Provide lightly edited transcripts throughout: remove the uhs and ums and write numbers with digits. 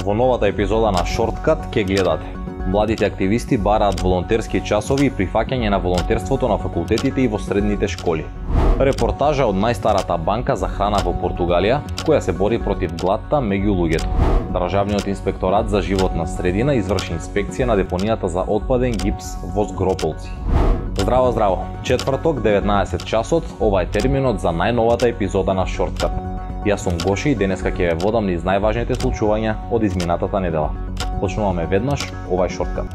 Во новата епизода на Шорткат ќе гледате: младите активисти бараат волонтерски часови и прифаќање на волонтерството на факултетите и во средните школи. Репортажа од најстарата банка за храна во Португалија, која се бори против гладта меѓу луѓето. Државниот инспекторат за животна средина изврши инспекција на депонијата за отпаден гипс во Згрополци. Здраво, здраво! Четврток, 19 часот, ова е терминот за најновата епизода на Шорткат. Јас сум Гоши и денеска ќе ве водам низ најважните случувања од изминатата недела. Почнуваме веднаш овај Шорткат.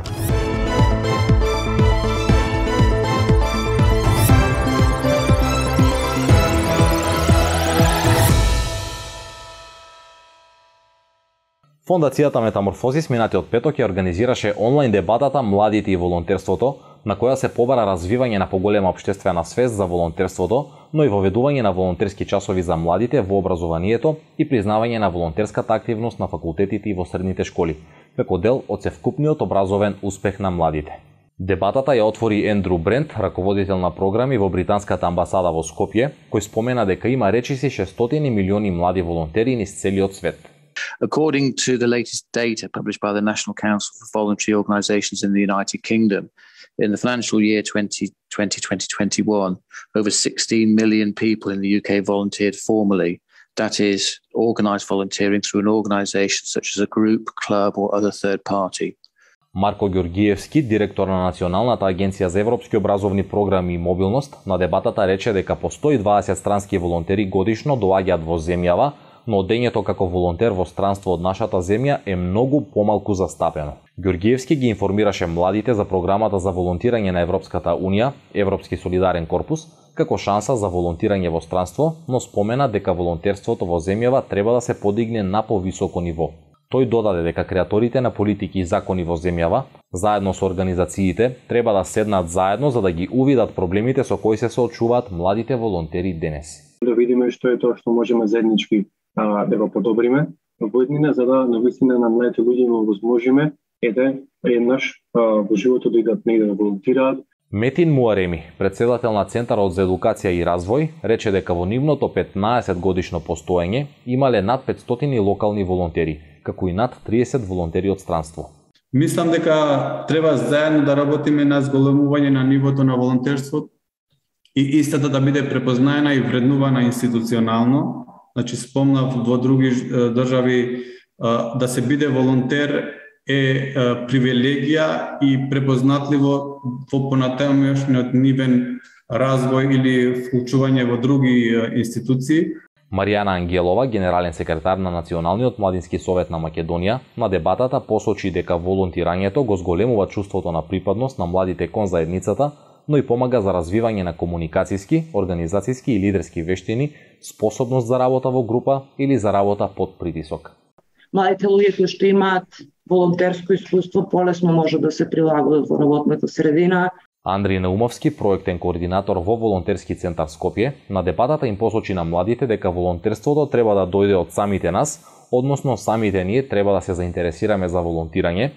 Фондацијата Метаморфозис минатиот петок ја организираше онлайн дебатата Младите и волонтерството, на која се побара развивање на поголема општествена свест за волонтерството, но и воведување на волонтерски часови за младите во образованието и признавање на волонтерската активност на факултетите и во средните школи, како дел од севкупниот образовен успех на младите. Дебатата ја отвори Ендру Брент, раководител на програми во британската амбасада во Скопје, кој спомена дека има речиси 600 милиони млади волонтери низ целиот свет. According to the latest data published by the National Council for Voluntary Organisations in the United Kingdom, in the financial year 2020-2021, over 16 million people in the UK volunteered formally. That is, organised volunteering through an organisation such as a group, club or other third party. Марко Ѓоргиевски, директор на Националната агенција за европски образовни програми и мобилност, на дебатата рече дека по 120 странски волонтери годишно доаѓаат во земјава, но одењето како волонтер во странство од нашата земја е многу помалку застапено. Ѓоргиевски ги информираше младите за програмата за волонтирање на Европската Унија, Европски солидарен корпус, како шанса за волонтирање во странство, но спомена дека волонтерството во земјава треба да се подигне на повисоко ниво. Тој додаде дека креаторите на политики и закони во земјава, заедно со организациите, треба да седнат заедно за да ги увидат проблемите со кои се соочуваат младите волонтери денес. Да видиме што е тоа што можеме заеднички да го подобриме во иднина, за да навистина на младите луѓе им овозможиме еднаш во животот да идат негде да волонтираат. Метин Муареми, председател на Центарот за едукација и развој, рече дека во нивното 15 годишно постоење имале над 500 локални волонтери, како и над 30 волонтери од странство. Мислам дека треба заедно да работиме на зголемување на нивото на волонтерството и истата да биде препознаена и вреднувана институционално. Значи, спомнав во други држави да се биде волонтер е привилегија и препознатливо во понатамошниот нивен развој или вклучување во други институции. Маријана Ангелова, генерален секретар на Националниот младински совет на Македонија, на дебатата посочи дека волонтирањето го зголемува чувството на припадност на младите кон заедницата, но и помага за развивање на комуникацијски, организацијски и лидерски вештини, способност за работа во група или за работа под притисок. Младите луѓе кои што имаат волонтерско искуство полесно може да се прилагодат во работната средина. Андри Наумовски, проектен координатор во Волонтерски центар Скопје, на дебатата им посочи на младите дека волонтерството треба да дојде од самите нас, односно самите ние треба да се заинтересираме за волонтирање,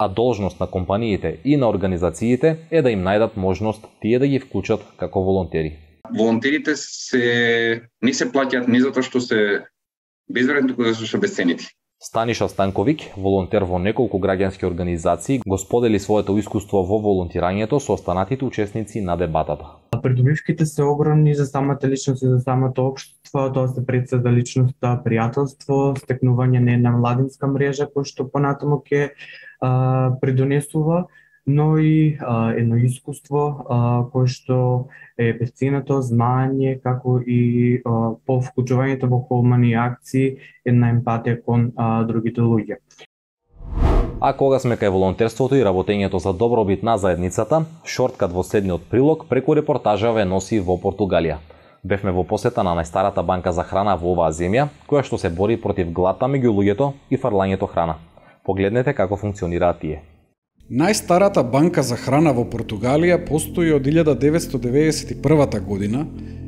а должност на компаниите и на организациите е да им најдат можност тие да ги вклучат како волонтери. Волонтерите не се плаќаат ни затоа што се безвредни, туку затоа што се бесценити. Станиша Станковик, волонтер во неколку граѓански организации, го сподели своето искуство во волонтирањето со останатите учесници на дебатата. Придобивките се огромни за самата личност и за самото општество, тоа се председа личноста, пријателство, стекнување на една младинска мрежа која што понатаму ќе придонесува, но и едно искуство кое што е бесценето, знаење, како и по вклучувањето во хумани акции, една емпатија кон другите луѓе. А кога сме кај волонтерството и работењето за добробит на заедницата, Шорткат во следниот прилог преку репортажа ве носи во Португалија. Бевме во посета на најстарата банка за храна во оваа земја, која што се бори против гладта меѓу луѓето и фрлањето храна. Погледнете како функционираат тие. Најстарата банка за храна во Португалија постои од 1991 година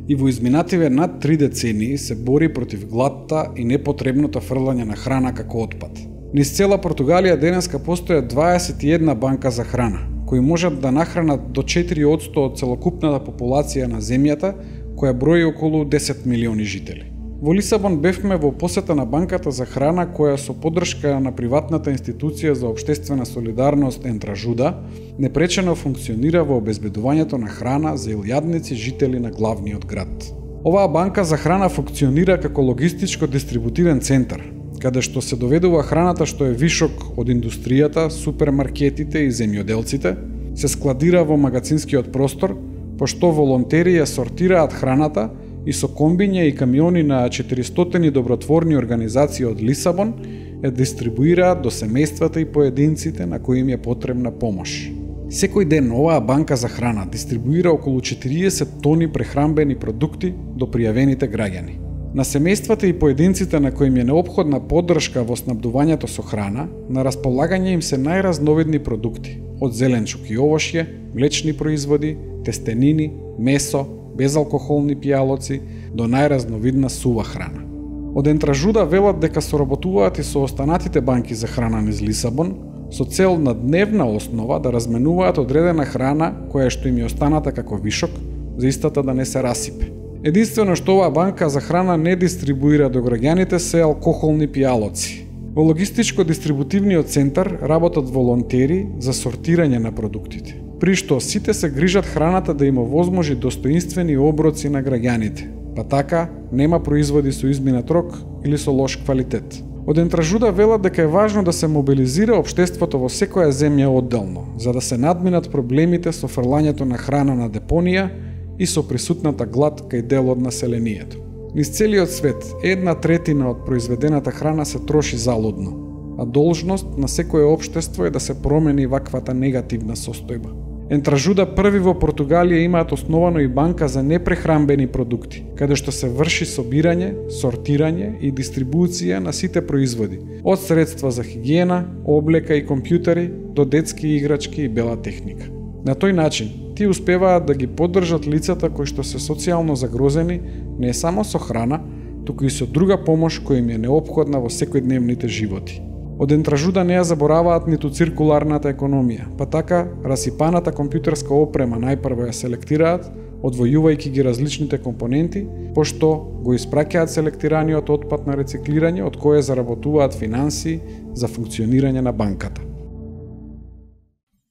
и во изминативе над 3 децении се бори против гладта и непотребното фрлање на храна како отпад. Низ цела Португалија денеска постојат 21 банка за храна, кои можат да нахранат до 4% од целокупната популација на земјата, која брои околу 10 милиони жители. Во Лисабон бевме во посета на банката за храна која со поддршка на приватната институција за општествена солидарност Ентражуда непречено функционира во обезбедувањето на храна за илјадници жители на главниот град. Оваа банка за храна функционира како логистичко-дистрибутивен центар, каде што се доведува храната што е вишок од индустријата, супермаркетите и земјоделците, се складира во магазинскиот простор, пошто волонтери ја сортираат храната и со комбиња и камиони на 400 добротворни организации од Лисабон ја дистрибуираат до семејствата и поединците на кои им е потребна помош. Секој ден оваа банка за храна дистрибуира околу 40 тони прехранбени продукти до пријавените граѓани. На семејствата и поединците на кои им е неопходна поддршка во снабдувањето со храна, на располагање им се најразновидни продукти, од зеленчук и овошје, млечни производи, тестенини, месо, безалкохолни пијалоци до најразновидна сува храна. Од Ентражуда велат дека соработуваат и со останатите банки за храна низ Лисабон со цел на дневна основа да разменуваат одредена храна која што им е останата како вишок, за истата да не се расипе. Единствено што оваа банка за храна не дистрибуира до граѓаните се алкохолни пијалоци. Во логистичко-дистрибутивниот центар работат волонтери за сортирање на продуктите, при што сите се грижат храната да им овозможи достоинствени оброци на граѓаните, па така нема производи со изминат рок или со лош квалитет. Од Ентражуда велат дека е важно да се мобилизира општеството во секоја земја одделно, за да се надминат проблемите со фрлањето на храна на депонија и со присутната глад кај дел од населението. Низ целиот свет, 1/3 од произведената храна се троши залудно, а должност на секое општество е да се промени ваквата негативна состојба. Ентражуда први во Португалија имаат основано и банка за непрехранбени продукти, каде што се врши собирање, сортирање и дистрибуција на сите производи, од средства за хигиена, облека и компјутери до детски играчки и бела техника. На тој начин, тие успеваат да ги поддржат лицата кои што се социјално загрозени не само со храна, туку и со друга помош која им е неопходна во секојдневните животи. Од Ентражуда не ја забораваат ниту циркуларната економија, па така расипаната компјутерска опрема најпрво ја селектираат, одвојувајќи ги различните компоненти, пошто го испраќаат селектираниот отпад на рециклирање од кое заработуваат финансии за функционирање на банката.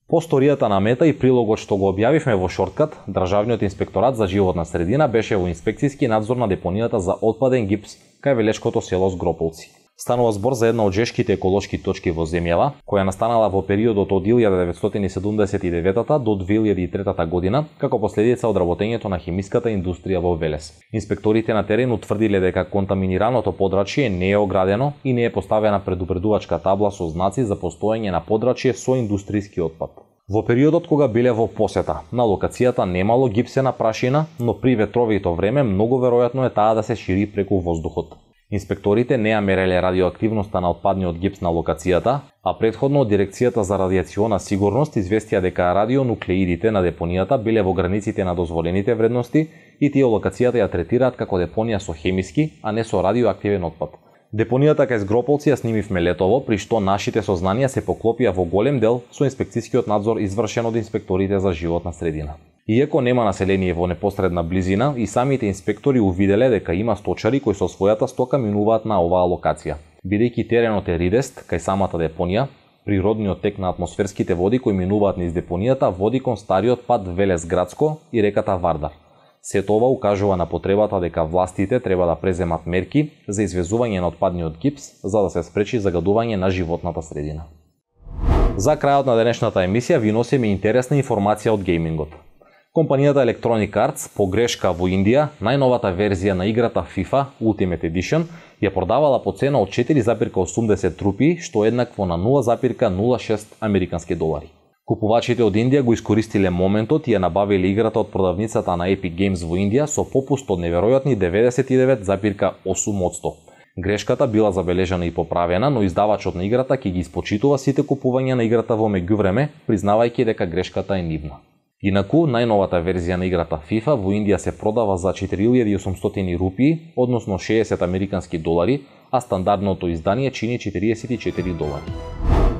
По сторијата на Мета и прилогот што го објавивме во шорткат, Државниот инспекторат за животна средина беше во инспекцијски надзор на депонијата за отпаден гипс кај велешкото село Згрополци. Станува збор за една од жешките еколошки точки во земјава, која настанала во периодот од 1979 до 2003 година, како последица од работењето на хемиската индустрија во Велес. Инспекторите на терен утврдиле дека контаминираното подрачје не е оградено и не е поставена предупредувачка табла со знаци за постоење на подрачје со индустријски отпад. Во периодот кога биле во посета, на локацијата немало гипсена прашина, но при ветровито време многу веројатно е таа да се шири преку воздухот. Инспекторите не ја мереле радиоактивноста на отпадниот гипс на локацијата, а претходно од Дирекцијата за радијациона сигурност известија дека радионуклеидите на депонијата биле во границите на дозволените вредности и тие локацијата ја третираат како депонија со хемиски, а не со радиоактивен отпад. Депонијата кај Згрополци ја снимивме летово, при што нашите сознанија се поклопија во голем дел со инспекцијскиот надзор извршен од инспекторите за животна средина. Иако нема население во непосредна близина, и самите инспектори увиделе дека има сточари кои со својата стока минуваат на оваа локација. Бидејќи теренот е ridest кај самата депонија, природниот тек на атмосферските води кои минуваат низ депонијата води кон стариот пат Велес Градско и реката Вардар. Сето ова укажува на потребата дека властите треба да преземат мерки за извезување на отпадниот гипс за да се спречи загадување на животната средина. За крајот на денешната емисија ви носиме интересна информација од геймингот. Компанијата Electronic Arts по грешка во Индија најновата верзија на играта FIFA Ultimate Edition ја продавала по цена од 4,80 рупии, што е еднакво на 0,06 американски долари. Купувачите од Индија го искористиле моментот и ја набавиле играта од продавницата на Epic Games во Индија со попуст од неверојатни 99,8%. Грешката била забележана и поправена, но издавачот на играта ќе ги испочитува сите купувања на играта во меѓувреме, признавајќи дека грешката е нивна. Инаку, најновата верзија на играта FIFA во Индија се продава за 4800 рупии, односно 60 американски долари, а стандардното издание чини 44 долари.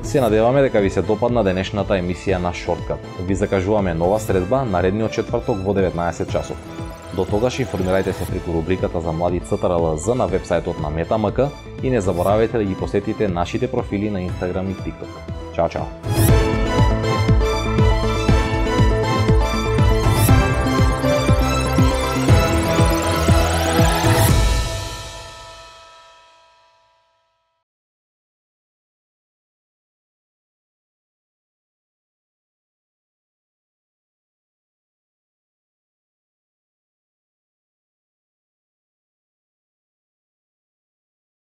Се надеваме дека ви се допадна денешната емисија на Шорткат. Ви закажуваме нова средба наредниот четврток во 19 часот. До тогаш информирајте се преку рубриката за млади ЦТРЛ-З на вебсајтот на Метамк и не заборавајте да ги посетите нашите профили на Инстаграм и ТикТок. Чао, чао!